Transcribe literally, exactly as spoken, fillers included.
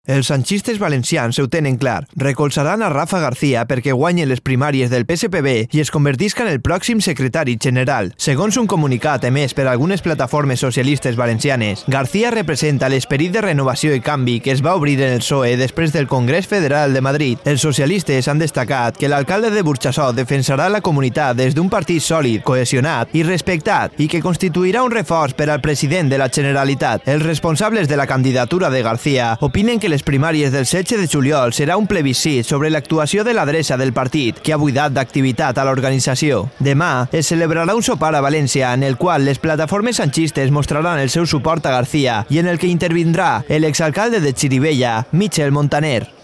Els sanchistes valencians ho tenen clar. Recolzaran a Rafa García perquè guanyi les primàries del P S P B i es convertisca en el pròxim secretari general. Segons un comunicat emès per algunes plataformes socialistes valencianes, García representa l'esperit de renovació i canvi que es va obrir en el P S O E després del Congrés Federal de Madrid. Els socialistes han destacat que l'alcalde de Burxassot defensarà la comunitat des d'un partit sòlid, cohesionat i respectat i que constituirà un reforç per al president de la Generalitat. Els responsables de la candidatura de García opinen que les Les primàries del setze de juliol serà un plebiscit sobre l'actuació de l'adreça del partit, que ha buidat d'activitat a l'organització. Demà es celebrarà un sopar a València en el qual les plataformes sanchistes mostraran el seu suport a García i en el que intervindrà l'exalcalde de Xirivella, Michel Montaner.